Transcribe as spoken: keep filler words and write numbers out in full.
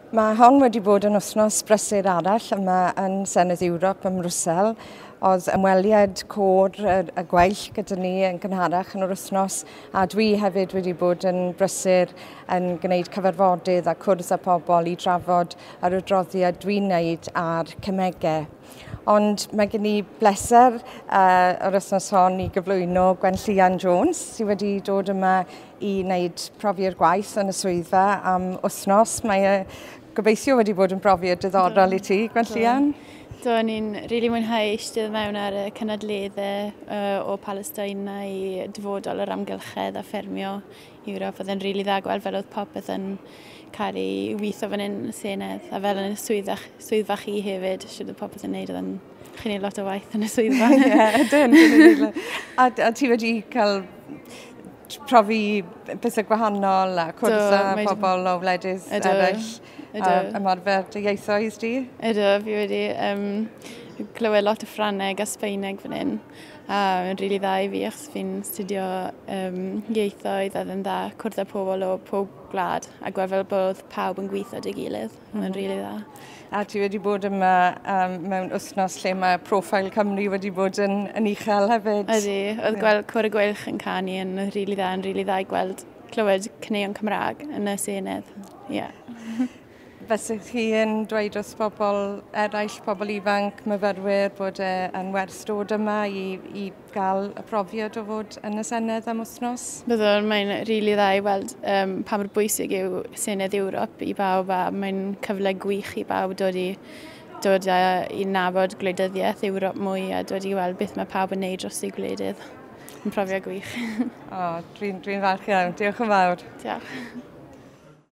Mae hon wedi bod yn wythnos brysur arall yma yn Senedd Ewrop ym Mrwsel. Oedd ymweliad côr y, y Gweilch gyda ni yn gynharach yn yr wythnos, a dwi hefyd wedi bod yn brysur yn gwneud cyfarfodydd a cwrdd â pobl i drafod yr adroddiad dwi'n wneud ar cemegau. Ond mae gen i bleser uh, yr wythnos hon i gyflwyno Gwenllian Jones, sydd wedi dod yma i wneud profiad gwaith yn y swyddfa am wythnos. Mae e gobeithio wedi bod yn brofiad diddorol i ti, Gwenllian. Do, ni'n rili really mwynhau eistedd mewn ar y cynadleddau uh, o Palestina i dyfodol yr amgylchedd a ffermio Ewrop. Oedd e'n rili really dda gweld fel oedd popeth yn cael ei weithio fan hyn yn y Senedd a fel yn y swyddfa, swyddfa chi hefyd, siwr oedd popeth yn neud, oedd yn chi'n neud lot o waith yn y swyddfa. Ie, ydyn. A, a ti wedi cael profi pethau gwahanol a cwrdd â pobl o wledydd eraill a ymarfer dy ieithoedd di? Ydw, fi wedi um, clywed lot o Ffrangeg a Sbaeneg fan hyn. A mae'n rili really dda i fi achos fi'n studio um, ieithoedd a yn dda cwrdd â pobl o pob gwlad a gweld fel bod pawb yn gweithio 'da'i gilydd. Mae'n mm. rili really dda. A ti wedi bod yma um, mewn wythnos lle mae profil Cymru wedi bod yn, yn uchel hefyd. Ydy, oedd yeah. gweld Côr y Gweilch yn canu yn rili really dda, yn rili really dda i gweld clywed caneuon Cymraeg yn y Senedd. Yeah. Fysych chi yn dweud wrth bobl eraill, pobl ifanc, myfyrwyr, bod e yn werth dod yma i, i gael y profiad o fod yn y Senedd am wythnos? Byddwn, mae'n rili really dda i weld um, pa mor bwysig yw Senedd Ewrop i bawb a mae'n cyfle gwych i bawb dod i, dod a, i nabod gwleidyddiaeth Ewrop mwy a dod i weld beth mae pawb yn neud dros eu gwledydd. Yn profiad gwych. O, dwi'n dwi falch iawn. Diolch yn fawr. Diolch.